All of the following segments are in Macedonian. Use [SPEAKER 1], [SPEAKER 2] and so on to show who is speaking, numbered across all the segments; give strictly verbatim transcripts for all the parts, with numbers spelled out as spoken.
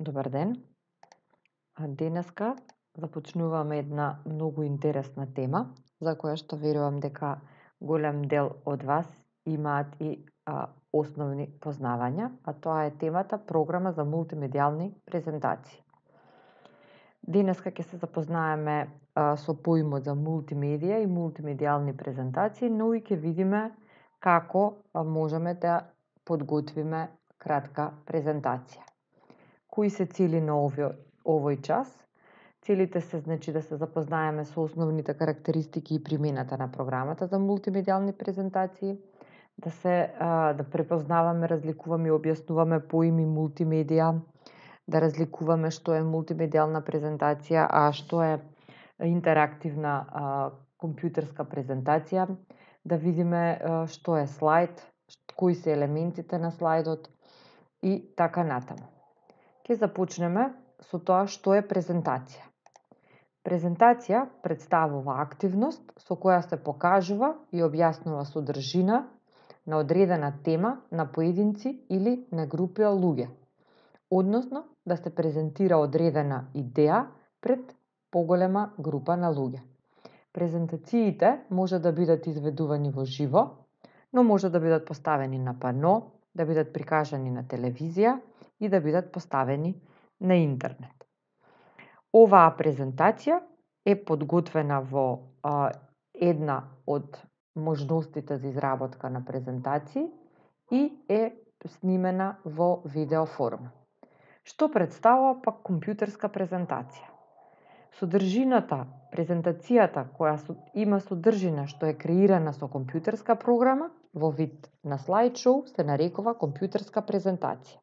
[SPEAKER 1] Добар ден. Денеска започнуваме една многу интересна тема, за која што верувам дека голем дел од вас имаат и а, основни познавања, а тоа е темата програма за мултимедијални презентации. Денеска ќе се запознаеме а, со поимот за мултимедија и мултимедијални презентации, но и ќе видиме како а, можеме да подготвиме кратка презентација. Кои се цели на овој, овој час? Целите се значи да се запознаеме со основните карактеристики и примената на програмата за мултимедијални презентации, да се а, да препознаваме, разликуваме и објаснуваме поими мултимедија, да разликуваме што е мултимедијална презентација, а што е интерактивна а, компјутерска презентација, да видиме а, што е слайд, кои се елементите на слайдот и така натаму. Ќе започнеме со тоа што е презентација. Презентација представува активност со која се покажува и објаснува содржина на одредена тема на поединци или на групи луѓе, односно да се презентира одредена идеја пред поголема група на луѓе. Презентациите може да бидат изведувани во живо, но може да бидат поставени на пано, да бидат прикажани на телевизија и да бидат поставени на интернет. Оваа презентација е подготвена во а, една од можностите за изработка на презентации и е снимена во видео форма. Што представува пак компјутерска презентација? Содржината, презентацијата која има содржина што е креирана со компјутерска програма во вид на слайд-шоу се нарекува компјутерска презентација.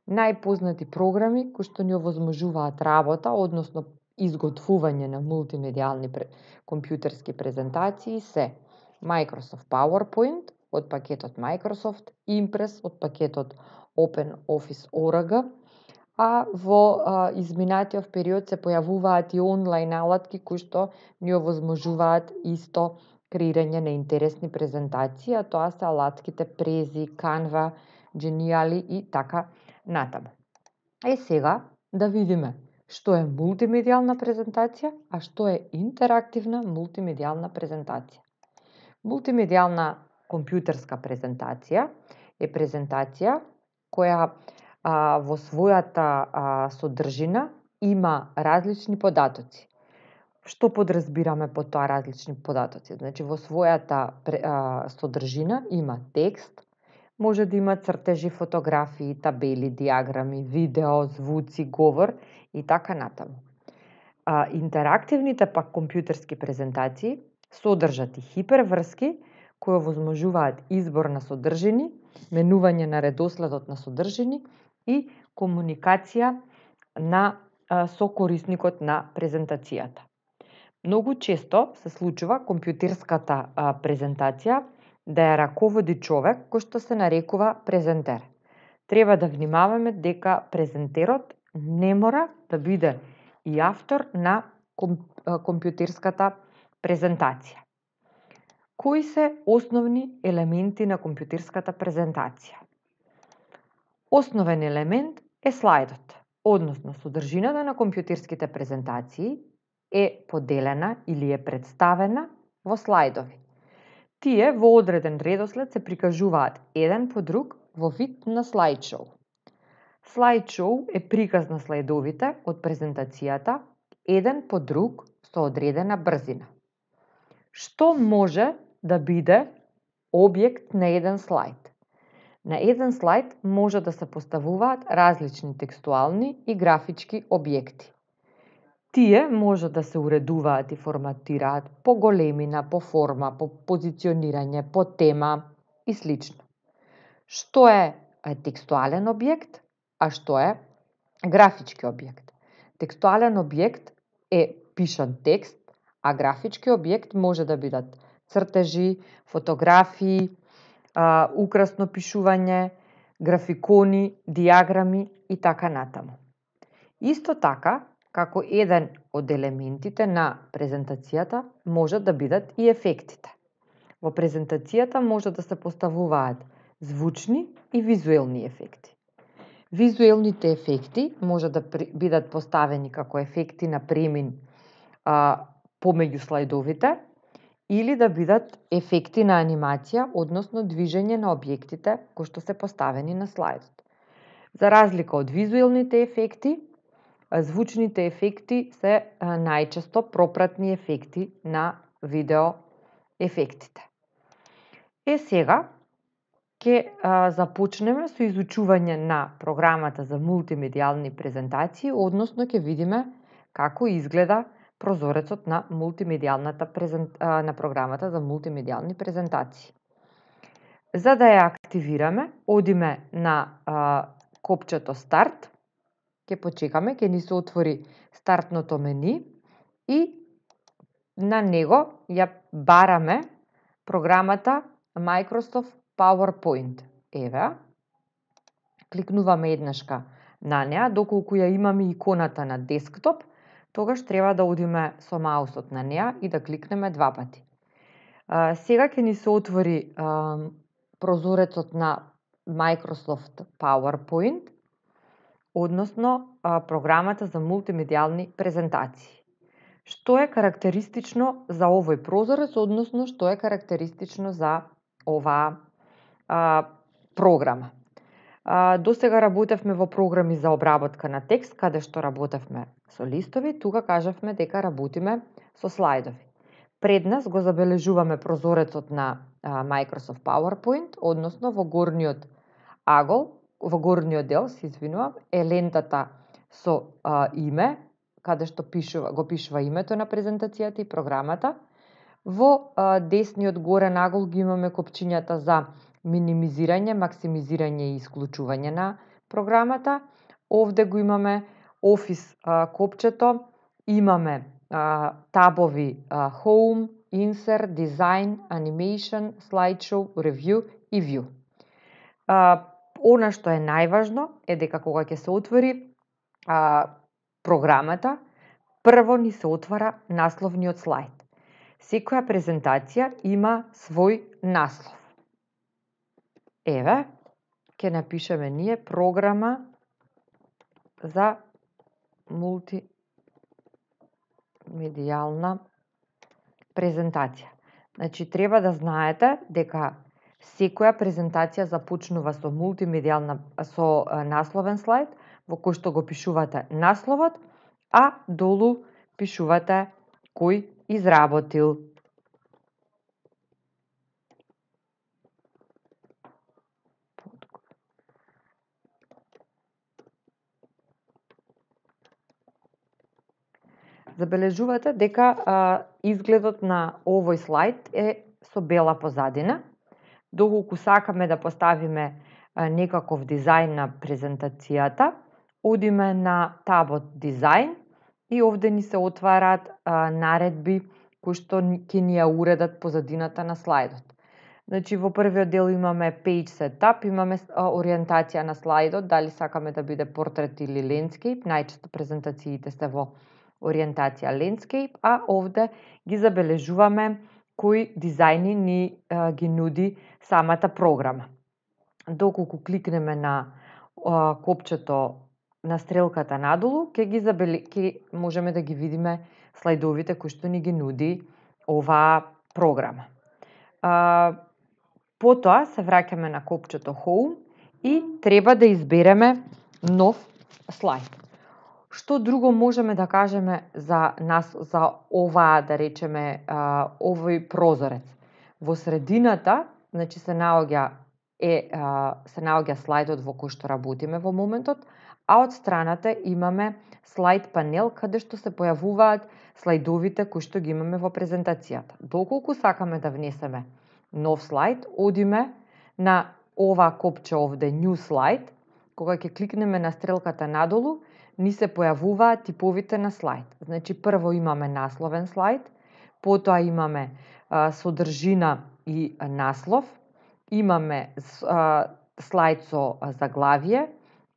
[SPEAKER 1] Најпознати програми кои што ни овозможуваат работа, односно изготвување на мултимедијални компјутерски презентации се Microsoft PowerPoint од пакетот Microsoft, Impress од пакетот OpenOffice о ар джи, а во а, изминатиот период се појавуваат и онлайн алатки кои што ни овозможуваат исто креирање на интересни презентации, а тоа се алатките Prezi, Canva, Geniali и така натаму. Е сега да видиме што е мултимедијална презентација, а што е интерактивна мултимедијална презентација. Мултимедијална компјутерска презентација е презентација која а, во својата а, содржина има различни податоци. Што подразбираме по тоа различни податоци? Значи во својата а, содржина има текст, може да има цртежи, фотографии, табели, диаграми, видео, звуци, говор и така натаму. А, интерактивните пак компјутерски презентации содржат и хиперврски кои овозможуваат избор на содржини, менување на редоследот на содржини и комуникација на, а, со корисникот на презентацијата. Многу често се случува компјутерската а, презентација да ја раководи човек кој што се нарекува презентер. Треба да внимаваме дека презентерот не мора да биде и автор на компјутерската презентација. Кои се основни елементи на компјутерската презентација? Основен елемент е слайдот, односно содржината на компјутерските презентации е поделена или е представена во слайдови. Тие во одреден редослед се прикажуваат еден по друг во вид на слайд-шоу. Слайд-шоу е приказ на слайдовите од презентацијата еден по друг со одредена брзина. Што може да биде објект на еден слайд? На еден слайд може да се поставуваат различни текстуални и графички објекти. Тие може да се уредуваат и форматираат по големина, по форма, по позиционирање, по тема и слично. Што е текстуален објект, а што е графички објект? Текстуален објект е пишан текст, а графички објект може да бидат цртежи, фотографии, а, украсно пишување, графикони, диаграми и така натаму. Исто така, како еден од елементите на презентацијата може да бидат и ефектите. Во презентацијата може да се поставуваат звучни и визуелни ефекти. Визуелните ефекти може да бидат поставени како ефекти на премин а, помеѓу слайдовите или да бидат ефекти на анимација, односно движење на објектите кои што се поставени на слайдот. За разлика од визуелните ефекти, звучните ефекти се најчесто пропратни ефекти на видео ефектите. Е сега ќе започнеме со изучување на програмата за мултимедијални презентации, односно ќе видиме како изгледа прозорецот на мултимедијалната презент... на програмата за мултимедијални презентации. За да ја активираме, одиме на а, копчето старт, ќе почекаме, ќе ни се отвори стартното мени и на него ја бараме програмата Microsoft PowerPoint. Еве, кликнуваме еднашка на неа, доколку ја имаме иконата на десктоп, тогаш треба да одиме со маусот на неа и да кликнеме два пати. А, сега ќе ни се отвори а, прозорецот на Microsoft PowerPoint, односно а, програмата за мултимедијални презентации. Што е карактеристично за овој прозорец, односно што е карактеристично за оваа а, програма. А, до сега работевме во програми за обработка на текст, каде што работевме со листови, тука кажавме дека работиме со слайдови. Пред нас го забележуваме прозорецот на а, Microsoft PowerPoint, односно во горниот агол, во горниот дел, се извинувам, е лентата со а, име, каде што пишува, го пишува името на презентацијата и програмата. Во а, десниот горен агол ги имаме копчињата за минимизирање, максимизирање и исклучување на програмата. Овде го имаме Office а, копчето, имаме а, табови а, Home, Insert, Design, Animation, Slideshow, Review и View. А, она што е најважно е дека кога ќе се отвори а, програмата, прво ни се отвара насловниот слайд. Секоја презентација има свој наслов. Еве, ќе напишеме ние програма за мултимедијална презентација. Значи, треба да знаете дека секоја презентација започнува со мултимедијална, со насловен слайд, во кој што го пишувате насловот, а долу пишувате кој изработил. Забележувате дека а, изгледот на овој слайд е со бела позадина. Доколку сакаме да поставиме а, некаков дизајн на презентацијата, одиме на табот Дизајн и овде ни се отварат а, наредби кои што ќе ни ја уредат позадината на слайдот. Значи, во првиот дел имаме Page Setup, имаме а, ориентација на слайдот, дали сакаме да биде портрет или landscape. Најчесто презентациите се во ориентација landscape, а овде ги забележуваме кои дизајни ни а, ги нуди самата програма. Доколку кликнеме на а, копчето на стрелката надолу, ќе ги забеле... ќе можеме да ги видиме слайдовите кои што ни ги нуди оваа програма. А, потоа се враќаме на копчето Home и треба да избереме нов слайд. Што друго можеме да кажеме за нас, за оваа, да речеме, а, овој прозорец? Во средината, значи се наоѓа е а, се наоѓа слайдот во кој што работиме во моментот, а од страната имаме слайд панел каде што се појавуваат слайдовите кои што ги имаме во презентацијата. Доколку сакаме да внесеме нов слайд, одиме на ова копче овде New Slide. Кога ќе кликнеме на стрелката надолу, ни се појавуваат типовите на слайд. Значи, прво имаме насловен слайд, потоа имаме а, содржина и наслов, имаме а, слайд со заглавие,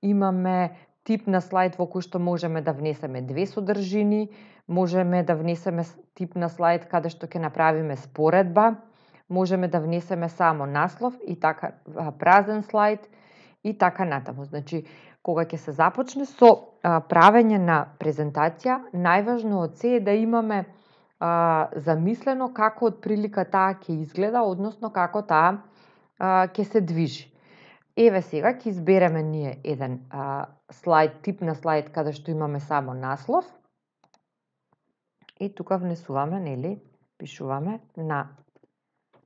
[SPEAKER 1] имаме тип на слайд во кој што можеме да внесеме две содржини, можеме да внесеме тип на слайд каде што ќе направиме споредба, можеме да внесеме само наслов и така празен слайд и така натаму. Значи, кога ќе се започне со а, правење на презентација, најважно од се е да имаме а, замислено како отприлика таа ќе изгледа, односно како таа а, ќе се движи. Еве сега ќе избереме ние еден а, слайд, тип на слайд каде што имаме само наслов и тука внесуваме, нели, пишуваме на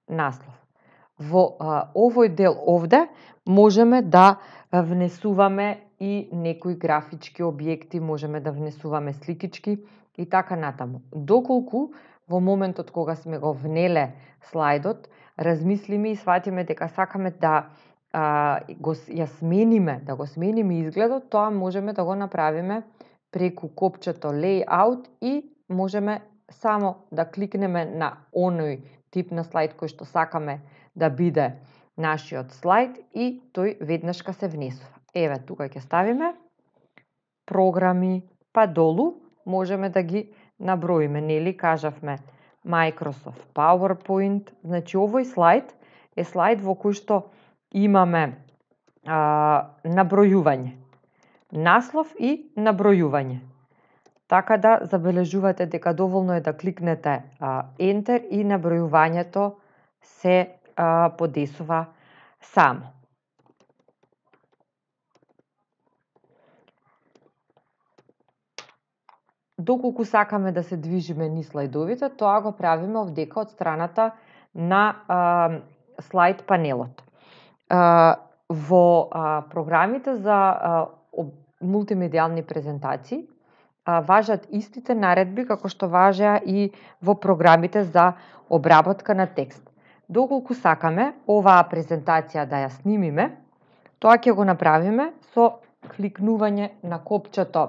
[SPEAKER 1] наслов. Во а, овој дел овде можеме да внесуваме и некои графички објекти, можеме да внесуваме сликички и така натаму. Доколку во моментот кога сме го внеле слайдот, размислиме и сватиме дека сакаме да а, го ја смениме, да го смениме изгледот, тоа можеме да го направиме преку копчето Layout и можеме само да кликнеме на оној тип на слайд кој што сакаме да биде нашиот слайд и тој веднашка се внесува. Еве, тука ќе ставиме програми, па долу можеме да ги наброиме, нели, кажавме Microsoft PowerPoint, значи овој слайд е слайд во кој што имаме а, набројување, наслов и набројување. Така да забележувате дека доволно е да кликнете а, Enter и набројувањето се а, подесува само. Доколку сакаме да се движиме низ слайдовите, тоа го правиме овдека од страната на а, слайд панелот. А, во а, програмите за а, мултимедијални презентации а, важат истите наредби како што важеа и во програмите за обработка на текст. Доколку сакаме оваа презентација да ја снимиме, тоа ќе го направиме со кликнување на копчето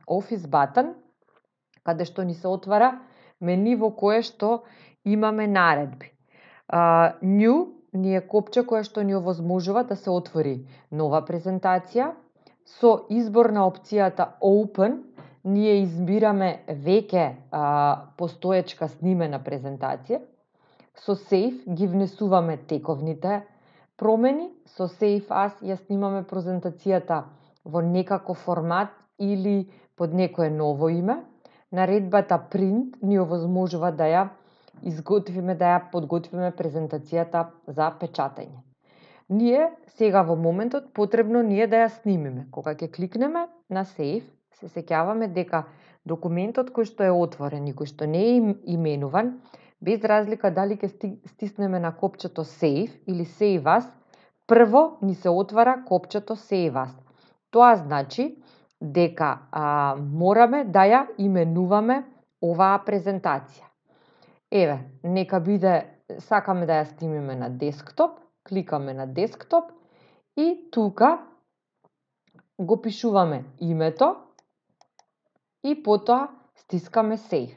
[SPEAKER 1] Office button, каде што ни се отвара мени во кое што имаме наредби. Uh, New ни е копче кое што ни овозможува да се отвори нова презентација. Со избор на опцијата Open ние избираме веќе uh, постоечка снимена презентација. Со Save ги внесуваме тековните промени. Со Save As ја снимаме презентацијата во некаков формат или под некое ново име. Наредбата Print ни овозможува да ја изготвиме, да ја подготвиме презентацијата за печатање. Ние сега во моментот потребно ние да ја снимиме. Кога ќе кликнеме на Save, се сеќаваме дека документот кој што е отворен и кој што не е именуван, без разлика дали ќе стиснеме на копчето Save или Save As, прво ни се отвара копчето Save As. Тоа значи дека а, мораме да ја именуваме оваа презентација. Еве, нека биде, сакаме да ја снимиме на десктоп, кликаме на десктоп и тука го пишуваме името и потоа стискаме Save.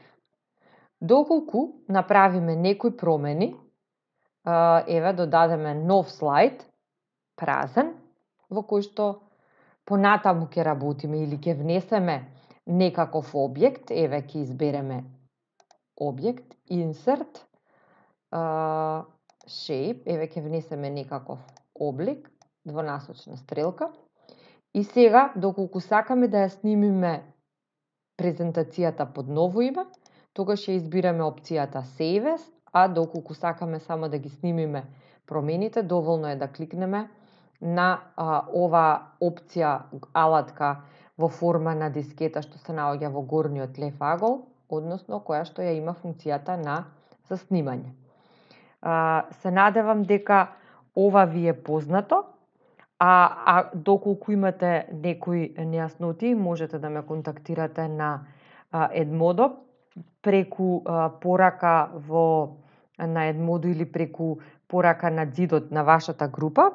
[SPEAKER 1] Доколку направиме некои промени, еве додадеме нов слайд, празен, во кој што понатаму ќе работиме или ќе внесеме некаков објект, еве ќе избереме објект, Insert, uh, Shape, еве ќе внесеме некаков облик, двонасочна стрелка. И сега, доколку сакаме да ја снимиме презентацијата под ново име, тогаш ќе избираме опцијата Save As, а доколку сакаме само да ги снимиме промените, доволно е да кликнеме на а, ова опција алатка во форма на дискета што се наоѓа во горниот лев агол, односно која што ја има функцијата на заснимање. А, се надевам дека ова ви е познато, а, а доколку имате некои нејасноти, можете да ме контактирате на а, Edmodo преку а, порака во на Edmodo или преку порака на ѕидот на вашата група,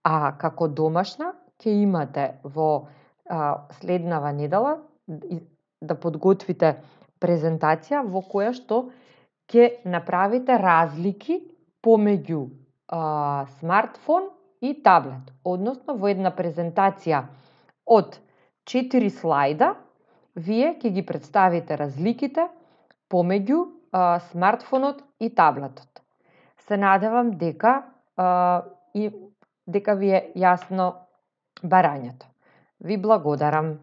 [SPEAKER 1] а како домашна ќе имате во а, следнава недела да подготвите презентација во која што ќе направите разлики помеѓу а, смартфон и таблет. Односно, во една презентација од четири слайда, вие ќе ги представите разликите помеѓу а, смартфонот и таблетот. Се надевам дека а, и дека ви е јасно барањето. Ви благодарам.